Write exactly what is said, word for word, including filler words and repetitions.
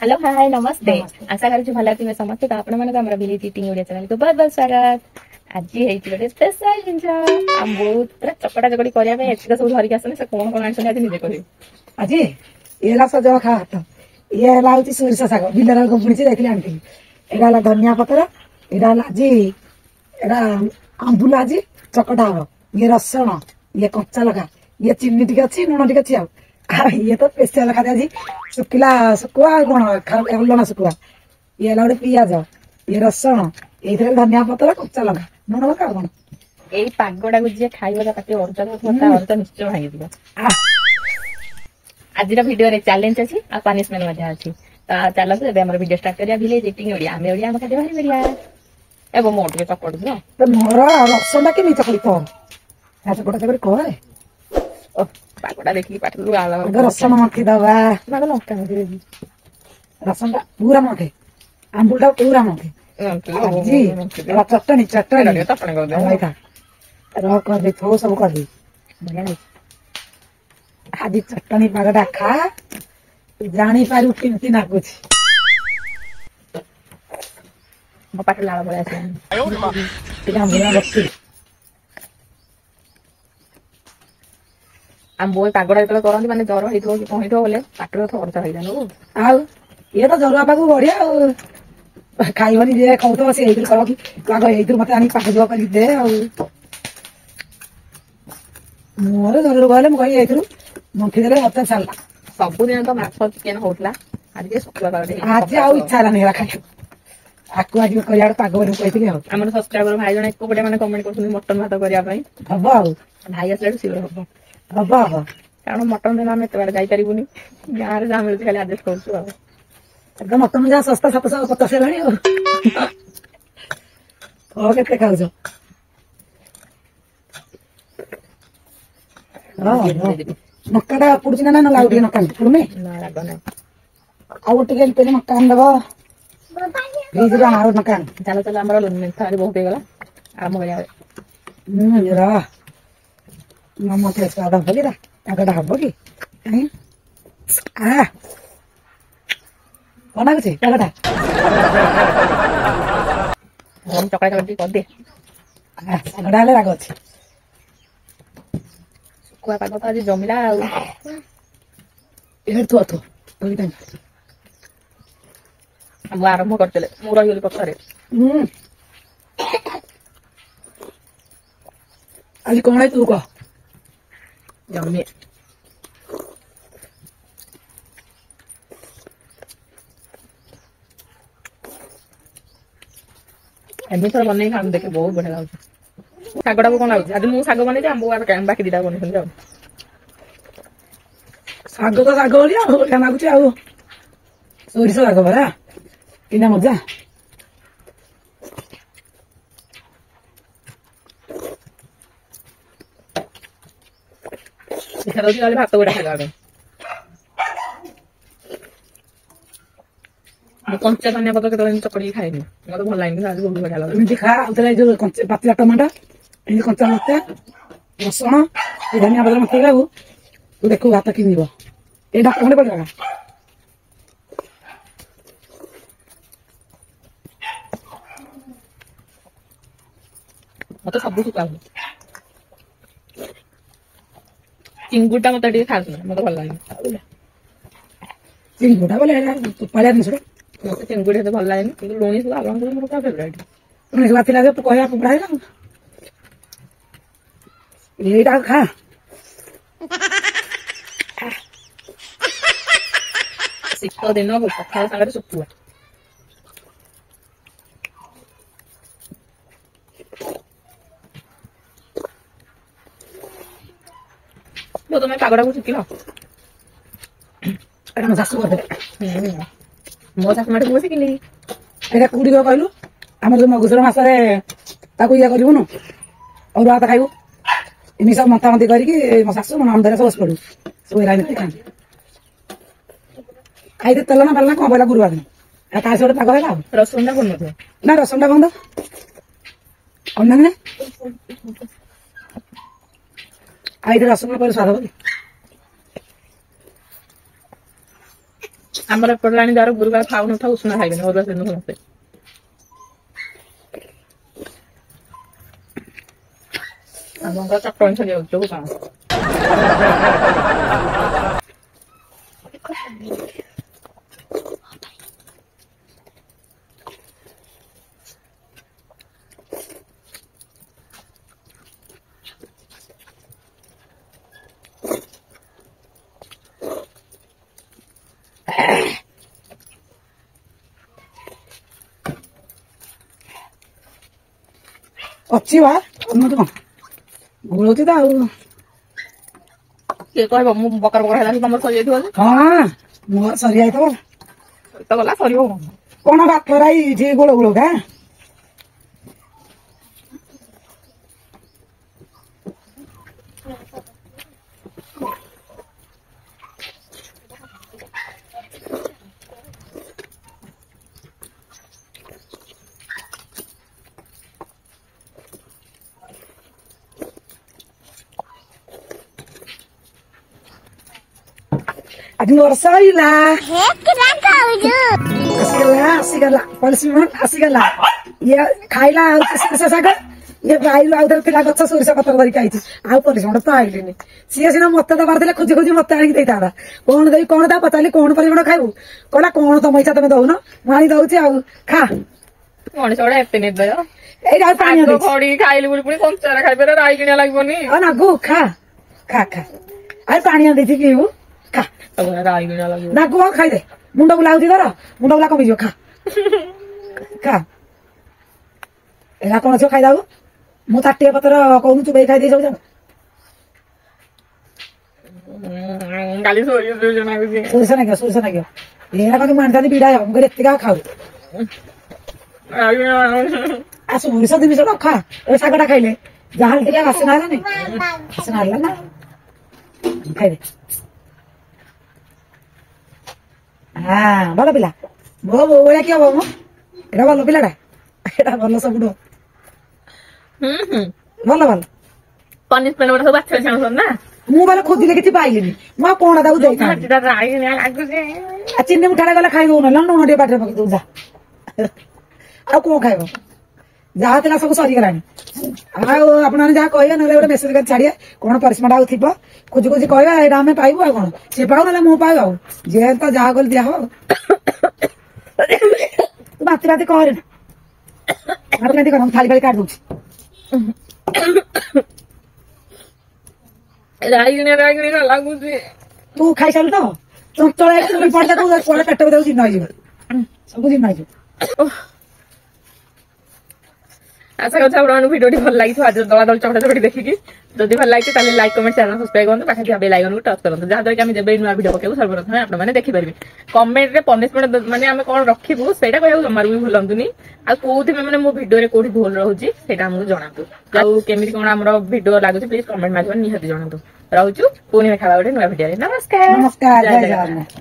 Hello, ହାଏ, ନମସ୍ତେ। ଆଶା କରୁଛି ଭଲ ଥିବେ ସମସ୍ତେ। ତ ଆପଣମାନଙ୍କୁ ଆମର ଭିଲେଜ ଇଟିଂ ଓଡ଼ିଆ ଚ୍ୟାନେଲକୁ ବହୁତ ବହୁତ ସ୍ୱାଗତ। ଆଜି ହେଇଛି ଗୋଟେ ସ୍ପେଶାଲ ଜିନିଷ। ଆମ ବହୁତ ପୁରା ଚକଟା ଚକଟି କରିବା ପାଇଁ ଏତିକ ସବୁ ଧରିକି ଆସନ୍ତି। ସେ କଣ କଣ ଆଣିଛନ୍ତି, ଆଜି ନିଜେ କହିବେ। ଆଜି ଇଏ ହେଲା ସଜନା ଖା ଭାତ, ଇଏ ହେଲା ହଉଛି ସୋରିଷ ଶାଗ, ବିଲରେ ବୁଣିଛି, ଯାଇଥିଲି ଆଣିଥିଲି। ଏଇଟା ହେଲା ଧନିଆ ପତ୍ର, ଏଇଟା ହେଲା ଆଜି ଏଇଟା ଆମ୍ବୁଲ, ଆଜି ଚକଟା ହବ। ଇଏ ରସୁଣ, ଇଏ କଞ୍ଚା ଲଙ୍କା, ଇଏ ଚିନି ଟିକେ ଅଛି, ଲୁଣ ଟିକେ ଅଛି। ଆଉ ଆଉ ଇଏ ତ ସ୍ପେଶାଲ ଖାଦ୍ୟ ଆଜି ଶୁଖିଲା ଶୁଖୁଆ, ଆଉ କଣ ଲଣା ଶୁଖୁଆ। ଇଏ ହେଲା ଗୋଟେ ପିଆଜ, ଇଏ ରସୁଣ, ଏଇଥିରେ ଧନିଆ ପତ୍ର, କଞ୍ଚା ଲଙ୍କା, ଲୁଣ ଲଙ୍କା, ଆଉ କଣ। ଏଇ ପାଗଟାକୁ ଯିଏ ଖାଇବ, ତା ପାଟି ଅରୁଚା ଥିବ, ତା ଅରୁଚା ନିଶ୍ଚୟ ଭାଙ୍ଗିଯିବ। ଆଜିର ଭିଡିଓରେ ଚ୍ୟାଲେଞ୍ଜ ଅଛି ଆଉ ପନିଶମେଣ୍ଟ ମଧ୍ୟ ଅଛି। ତ ଚାଲନ୍ତୁ, ଏବେ ଆମର ଭିଡିଓ ଷ୍ଟାର୍ଟ କରିବା। ଭିଲେଜ ଇଟିଂ ଓଡ଼ିଆ, ଆମେ ଓଡ଼ିଆ, ଆମ ଖାଦ୍ୟ ଭାରି ବଢିଆ। ଏବଂ ମୋର ଟିକେ ଚକଟି ଦିଅ। ତ ମୋର ରସୁଣଟା କେମିତି ଚକଟି କର, ଚକଟା ଚକଟି କରେ। ଓ, ପାଗଟା ଦେଖିକି ପାଟିରୁ ଲାଳ। ଆଗ ରସୁଣ ମନ୍ଥି ଦବା। ଆଗ ଲଙ୍କା ମନ୍ଥି ଦେବି। ରସୁଣଟା ପୁରା ମନ୍ଥେ, ଆମ୍ବୁଲଟା ପୁରା ମନ୍ଥେ। ଆଜି ଚଟଣି ଚଟଣି ଚଟଣି କରିଦେ। ରହ, କରିଦେ, ଥୋ, ସବୁ କରିଦେ। ବଢିଆ ଲାଗୁଛି। ଆଜି ଚଟଣି ପାଗଟା ଖା, ଜାଣିପାରିବୁ କେମିତି ନାଗୁଛି। ମୋ ପାଟିରୁ ଲାଳ ପଳେଇ ଆସିଲାଣି। ଟିକେ ଆମ୍ବୁଲ ରଖି। ଆମ ବୋଉ ପାଗଟା ଯେତେବେଳେ କରନ୍ତି, ମାନେ ଜ୍ୱର ହେଇଥିବ କି କଣ ହେଇଥିବ ବୋଲେ ପାଟିରେ ତ ଅରୁଚା ହେଇଯାଏ। ଆଉ ଇଏ ତ ଜରୁଆ ପାଗକୁ ବଢିଆ, ଆଉ ଖାଇବନି ଯିଏ କହୁଥିବ, ସେ ଏଇଥିରୁ କହିବ କି ଆଗ ଏଇଥିରୁ ମତେ ଆଣିକି ପାଗ ଯିବ କରିକି ଦେ। ଆଉ ମୋର ଜରୁର କହିଲେ ମୁଁ କହିବି ଏଇଥିରୁ ମନ୍ଥି ଦେଲେ ମତେ ସାରିଲା। ସବୁଦିନ ତ ମାଛ ଚିକେନ ହଉଥିଲା, ଆଜି ଟିକେ ଶୁଖୁଆ ପାଗ। ଆଜି ଆଉ ଇଚ୍ଛା ହେଲାନି ହେଲା ଖାଇବାକୁ। ଆକୁ ଆଜି କରିବା ଗୋଟେ ପାଗ ବୋଲି କହିଥିଲି। ଆଉ ଆମର ସବସ୍କ୍ରାଇବର ଭାଇ ଜଣେ ଏକ ଗୋଟେ ମାନେ କମେଣ୍ଟ କରୁଛନ୍ତି ମଟନ ଭାତ କରିବା ପାଇଁ। ହବ, ଆଉ ଭାଇ ଆସିଲାଠୁ ସିଓର ହବ। ହବ ହବ। କାରଣ ମଟନ ଦିନ ଆମେ ଏତେ ବାଟ ଯାଇପାରିବୁନି, ଗାଁରେ ଯାହା ମିଳୁଛି ଖାଲି ଆଡଜଷ୍ଟ କରୁଛୁ। ଆଉ ଏବେ ମଟନ ଯାହା ଶସ୍ତା, ସାତଶହ ପଚାଶ ହେଲାଣି। ଆଉ ହଉ, କେତେ ଖାଉଛ? ନକାଟା ପୋଡୁଛି ନା? ନା, ଆଉ ଟିକେ ନକା ପୋଡୁନି। ନା, ରାଗ ନାହିଁ। ଆଉ ଟିକେ ତେଲ ନକା ଆଣିଦବ ଫ୍ରିଜରୁ, ଆଉ ନକା। ଚାଲ ଚାଲ, ଆମର ମେନ୍ଥା ବହୁତ ହେଇଗଲା, ଆରମ୍ଭ କରିବା। ହୁଁ, ର, ମତେ ସ୍ୱାଦ ହବ କି ପାଗଟା ହବ କି? ଆ, କଣ ଲାଗୁଛି ପାଗଟା? ଚକଟା ଚକଟି କରିଦେ। ଶାଗଟା ହେଲେ ରାଗ ଅଛି। ଶୁଖୁଆ ପାଗ ତ ଆଜି ଜମିଲା। ଆଉ ଏଠି ଥୁଆ ଥୁଆ। ମୁଁ ଆରମ୍ଭ କରିଦେଲେ, ମୁଁ ରହିଗଲି ପଛରେ। ହୁଁ, ଆଜି କଣ ତୁ କହ। ଜମି ଏମିତି ଥରେ ବନେଇକି ଖାଆନ୍ତୁ, ଦେଖେ ବହୁତ ବଢିଆ ଲାଗୁଛି। ଶାଗଟାକୁ କଣ ଲାଗୁଛି? ଆଜି ମୁଁ ଶାଗ ବନେଇଛି, ଆମ୍ବ ବାକି ଦିଟା ବନେଇଛନ୍ତି। ଆଉ ଶାଗ ତ ଶାଗ ଭଳିଆ ଆଉ ବଢିଆ ଲାଗୁଛି। ଆଉ ସୋରିଷ ଶାଗ ପରା କିନା ମଜା। ଇଚ୍ଛା ଦଉଛି ନହେଲେ ଭାତ ଗୋଟେ ଖାଇବା ପାଇଁ। ମୁଁ କଞ୍ଚା ଧନିଆ ପତ୍ର କେତେବେଳେ ଏମିତି ଚକଟିକି ଖାଇନି, ମତେ ଭଲ ଲାଗେନି, ଆଜି ବହୁତ ବଢିଆ ଲାଗୁଛି। ଏମିତି ଖା। ଆଉ ଥରେ ଏଇ ଯୋଉ ପାଚିଲା ଟମାଟୋ, ଏମିତି କଞ୍ଚା ଲଙ୍କା, ରସୁଣ, ଏ ଧନିଆ ପତ୍ର ମନ୍ଥି ଖାଇବୁ, ତୁ ଦେଖିବୁ ଭାତ କିଣିବ। ଏଇ ଡାକ ଖଣ୍ଡେ ପଡ଼ିଲା। ମତେ ସବୁ ଶୁଖୁଆ ଭଲ। ଚିଙ୍ଗୁଡିଟା ମତେ ଟିକେ ଖାସ ନୁହେଁ, ମତେ ଭଲ ଲାଗେନି। ଚିଙ୍ଗୁଡା ବୋଲେ ପାଳିଆ ଜିନିଷଟା। ମତେ ଚିଙ୍ଗୁଡି ଏତେ ଭଲ ଲାଗେନି, କିନ୍ତୁ ଲୁଣି ଶୁଖୁଆ ଆପଣଙ୍କର ମୋର ପୁରା ଫେବରାଇଟ୍। ଲୁଣି ଶୁଖୁଆ ଥିଲା ଯେ କହିବା କୁକୁଡ଼ା ହେଲା। ଏଇଟା ଖା। ଶୀତ ଦିନକୁ ପଖାଳ ସାଙ୍ଗରେ ଶୁଖୁଆ। ତମେ ପାଗଟାକୁ ଶିଖିଲ? ଏଇଟା ମୋ ଶାଶୁ କରିଦେଲେ। ମୋ ଶାଶୁ ମାଠୁ ମୁଁ ଶିଖିଲି। ଏଇଟା କୋଉଠି କହିଲୁ? ଆମର ଯୋଉ ମଗୁସୁର ମାସରେ ତାକୁ ଇଏ କରିବୁନୁ, ଅରୁଆ ଭାତ ଖାଇବୁ, ଏମିତି ସବୁ ମନ୍ଥା ମନ୍ଥି କରିକି ମୋ ଶାଶୁ ମୋ ନଣନ୍ଦ ସବୁ ବସି ପଡୁ, ସବୁ ଏରା ଏମିତି ଖାଆନ୍ତି। ଖାଇତେ ତେଲ ନା ପାଲା କଣ ପଇଲା ଗୁରୁବାର ଦିନ, ଆଉ ତା ସହ ଗୋଟେ ପାଗ ହେଲା। ଆଉ ରସୁଣଟା ପଡୁନଥିବ ନା? ରସୁଣଟା ବନ୍ଦ ଅନ୍ୟ। ଆଉ ଏଇଠି ରସୁଣ ପଡ଼ିଲେ ସ୍ୱାଦ ହବ କି? ଆମର ଏପଟେ ଲାଣି ଯାହାର ଗୁରୁବାର ଖାଉନଥାଉ ଉଷୁନା ଖାଇବେନି, ଅରୁଆ ସେଦିନ ସମସ୍ତେ। ଆପଣଙ୍କର ଚଟଣି ସରିଯାଉଛି କଣ? ଅଛି ବା କଣ ଗୋଳଉଛି ତ ଆଉ କିଏ କହିବ ମୁଁ ବକର ବକର ହେଲା ତମର ସରିଯାଇଥିବ। ହଁ ମୋର ସରିଯାଇଥିବ ତ ଗଲା ସରିବ କଣ ଭାତ ରାଇ ଏଠି ଗୋଳ ଗୋଳ କା। ଆଜି ମୋର ସଇଲା, ଆସିଗଲା ଆସିଗଲା ପନିଶମେଣ୍ଟ ଆସିଗଲା। ଇଏ ଖାଇଲା ଆଉ ସୋରିଷ ଶାଗ, ଇଏ ଆଇଲୁ ଆଉ ଥରେ ଥିଲା ଗଛ ସୋରିଷ ପତ୍ର ଧରିକି ଆଇଛି। ଆଉ ପନିଶମେଣ୍ଟ ତ ଆଇଲିନି। ସିଏ ସିନା ମତେ ଦବାର ଥିଲେ ଖୋଜି ଖୋଜି ମତେ ଆଣିକି ଦେଇଥାନ୍ତା। କଣ ଦେବି କଣ ତା ପଚାରିଲି, କଣ ପରିମାଣ ଖାଇବୁ? କହିଲା କଣ ତମ ଇଚ୍ଛା, ତମେ ଦଉନ ମୁଁ ଆଣି ଦଉଛି ଆଉ ଖା। ମଣିଷ ଗୁଡା ଏତେ ନିର୍ଦୟ। ଏଇଟା ଆଉ ପାଣି ଖଡି ଖାଇଲି ବୋଲି ପୁଣି କଞ୍ଚାରେ ଖାଇପାରିବ, ରାଇଗିଣିଆ ଲାଗିବନି। ନାଗୁ ଖା ଖା ଖା, ଆଉ ପାଣି ଦେଇଛି ପିଇବୁ ଖା। ରାଇଗିଣିଆ ଲାଗିବ ନାଗୁ, ଆଉ ଖାଇଦେ। ମୁଣ୍ଡ ବୁଲା ହଉଛି ତୋର, ମୁଣ୍ଡ ବୁଲା କମିଯିବ, ଖା ଖା। ଏରା କଣ ଅଛି ଖାଇଦବୁ? ମୁଁ ତାଟିଆ ପତ୍ର କହୁନୁ ଚୁବେଇ ଖାଇଦେଇ ସବୁ ଯାକ। କାଲି ସୋରିଷ ନାଗୁଛି, ସୋରିଷ ନାଗିବ, ସୋରିଷ ନାଗିବ। ଏରା କଣ ମୁଁ ଆଣିଥାନ୍ତି ବିଡ଼ା, ମୁଁ କହିଲି ଏତିକି ଖାଉ। ଆଉ ସୋରିଷ ଜିନିଷଟା ଖା। ଏ ଶାଗଟା ଖାଇଲେ ଯାହାହେଲେ ଟିକେ ବାସ୍ନା ହେଲାନି? ବାସ୍ନା ହେଲା ନା? ଖାଇଦେ। ହଁ ଭଲ ପିଲା, ମୋ ବୋଉ ଭଳିଆ କିଏ ହବ? ମୁଁ ଏଇଟା ଭଲ ପିଲାଟା, ଏଇଟା ଭଲ ସବୁଠୁ ଭଲ ଭଲ। ପନିଶମେଣ୍ଟ ଗୁଡା ସବୁ ବାଛି ବାଛି ଆଣୁଛନ୍ତି ନା? ମୁଁ ମାନେ ଖୋଜିଲେ କିଛି ପାଇଲିନି, ମୁଁ ଆଉ କଣ ତାକୁ ଦେଇଥାନ୍ତି? ଆଉ ଚିନି ମୁଠାଟା ଗଲେ ଖାଇବୁ, ନହେଲେ ଲୁଣ ଟିକେ ପାଟିରେ ପକେଇ ଦବୁ ଯା। ଆଉ କଣ ଖାଇବ? ଯାହା ଥିଲା ସବୁ ସରିଗଲାଣି। ଆଉ ଆପଣମାନେ ଯାହା କହିବେ, ନହେଲେ ଗୋଟେ ମେସେଜ କରି ଛାଡ଼ିବେ, କଣ ପରିଶ୍ରମଟା ଆଉ ଥିବ ଖୋଜି ଖୋଜି କହିବା, ଏଇଟା ଆମେ ପାଇବୁ। ଆଉ କଣ ସେ ପାଉ ନହେଲେ ମୁଁ ପାଉ, ଆଉ ଯିଏ ତ ଯାହା କଲେ ଦିଆହବ। ତୁ ବାନ୍ତି ବାନ୍ତି କରେ ନା, ବାନ୍ତି ବାନ୍ତି କର, ମୁଁ ଥାଳି ଫାଳି କାଟି ଦଉଛି। ରାଇଗିଣିଆ ରାଇଗିଣିଆ ଲାଗୁଛି। ତୁ ଖାଇସାରିଲୁ ତ ଚଞ୍ଚଳ ପଡିଲା, କୁଆଡେ ପେଟ ଭିତରକୁ ଚିହ୍ନ ହେଇଯିବ, ସବୁ ଚିହ୍ନ ହେଇଯିବ। ଆଶା କରୁଛି ଆପଣମାନଙ୍କୁ ଭିଡ଼ିଓଟି ଭଲ ଲାଗିଥିବ। ଆଜି ଦଳା ଦଳି ଚକଟା ଚକଟି ଦେଖିକି ଯଦି ଭଲ ଲାଗିଛି ତାହେଲେ ଲାଇକ୍, କମେଣ୍ଟ, ଚ୍ୟାନେଲ ସବସ୍କ୍ରାଇବ କରନ୍ତୁ, ପାଖରେ ଥିବା ବେଲ୍ ଆଇକନକୁ ଟଚ୍ କରନ୍ତୁ, ଯାହାଦ୍ୱାରା କି ଆମେ ଯେବେ ନୂଆ ଭିଡ଼ିଓ ପକେଇବୁ ସର୍ବପ୍ରଥମେ ଆପଣମାନେ ଦେଖିପାରିବେ। କମେଣ୍ଟରେ ପନିଶମେଣ୍ଟ ମାନେ ଆମେ କଣ ରଖିବୁ ସେଇଟା କହିବାକୁ ଜମାରୁ ବି ଭୁଲନ୍ତୁନି। ଆଉ କୋଉଥିପାଇଁ ମାନେ ମୋ ଭିଡ଼ିଓରେ କୋଉଠି ଭୁଲ ରହୁଛି ସେଇଟା ଆମକୁ ଜଣାନ୍ତୁ, ଆଉ କେମିତି କଣ ଆମର ଭିଡ଼ିଓ ଲାଗୁଛି ପ୍ଲିଜ କମେଣ୍ଟ ମାଧ୍ୟମରେ ନିହାତି ଜଣାନ୍ତୁ। ରହୁଛୁ, ପୁଣି ଦେଖା ଗୋଟେ ନୂଆ ଭିଡ଼ିଓରେ। ନମସ୍କାର ନମସ୍କାର, ଜୟ ଜଗନ୍ନାଥ।